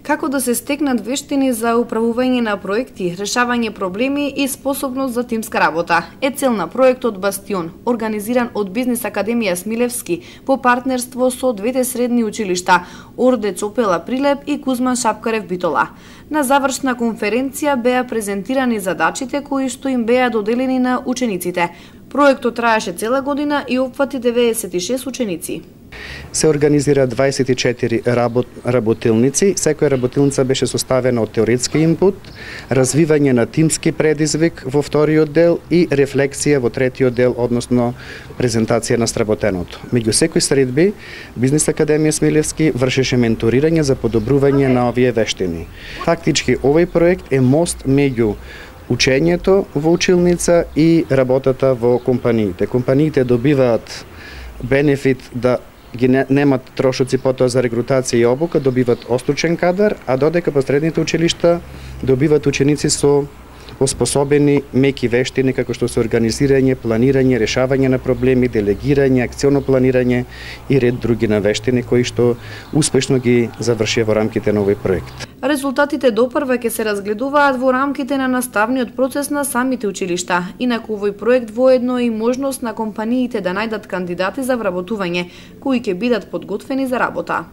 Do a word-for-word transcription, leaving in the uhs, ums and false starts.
Како да се стекнат вештини за управување на проекти, решавање проблеми и способност за тимска работа е цел на проектот Бастион, организиран од Бизнис Академија Смилевски во партнерство со двете средни училишта Орде Цопела Прилеп и Кузман Шапкарев Битола. На завршна конференција беа презентирани задачите кои што им беа доделени на учениците. Проектот траеше цела година и опфати деветдесет и шест ученици. Се организира дваесет и четири работ, работилници. Секоја работилница беше составена од теоретски инпут, развивање на тимски предизвик во вториот дел и рефлексија во третиот дел, односно презентација на сработеното. Меѓу секој средби, Бизнис Академија Смилевски вршеше менторирање за подобрување на овие вештини. Фактички, овој проект е мост меѓу учењето во училница и работата во компаниите. Компаниите добиваат бенефит да ги немат трошоци потоа за регрутација и обука, добиват остручен кадар, а додека по средните училишта добиват ученици со оспособени меки вештини како што се организирање, планирање, решавање на проблеми, делегирање, акционо планирање и ред други на вештини кои што успешно ги завршија во рамките на овој проект. Резултатите допрва ќе се разгледуваат во рамките на наставниот процес на самите училишта. Инаку овој проект воедно и можност на компаниите да најдат кандидати за вработување, кои ќе бидат подготвени за работа.